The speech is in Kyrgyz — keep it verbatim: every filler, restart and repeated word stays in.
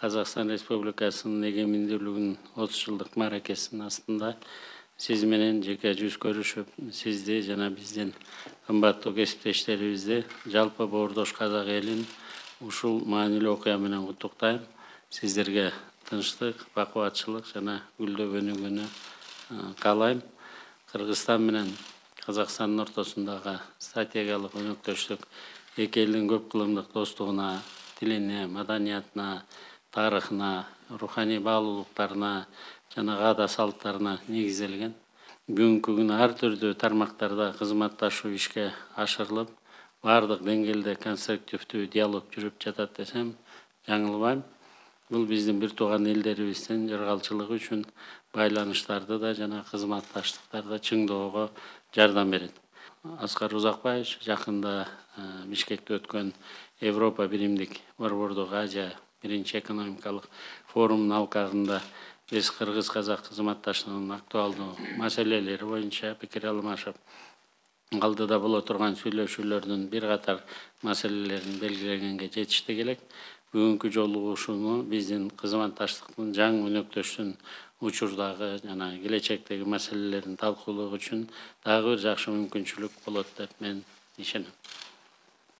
Казакстан Республикасынын эгемендүүлүгүнүн отуз жылдык мааракесинин астында сиз менен жеке жүз көрүшүп, сизди жана биздин кымбаттуу кесиптештерибизди, жалпы боордош казак элин ушул маанилүү окуя менен куттуктайм. Сиздерге тынчтык, бакубатчылык жана гүлдөө өнүгүүнү каалайм. Кыргызстан менен Казакстандын ортосундагы стратегиялык өнөктөштүк эки элдин көп кылымдык достугуна, тилине, маданиятына, тарыхына, руханий баалуулуктарына жана каада салттарына негизделген. Бүгүнкү күнү ар түрдүү тармактарда кызматташуу ишке ашырылып, баардык деңгээлде конструктивдүү диалог жүрүп жатат десем жаңылбайм. Бул биздин бир тууган элдерибиздин жыргалчылыгы үчүн байланыштарды да жана кызматташтыктарды чыңдоого жардам берет. Аскар Узакбаевич жакында Бишкекте өткөн Европа биримдик борбордук Азия биринчи экономикалык форумунун алкагында биз кыргыз-казак кызматташтыгынын актуалдуу маселелери боюнча пикир алмашып, алдыда боло турган сүйлөшүүлөрдүн бир катар маселелерин белгилегенге жетиштик элек. Бүгүнкү жолугушууну биздин кызматташтыктын жаңы өнөктөштүн учурдагы жана келечектеги маселелерин талкуулоо үчүн дагы бир жакшы мүмкүнчүлүк болот деп мен ишенем.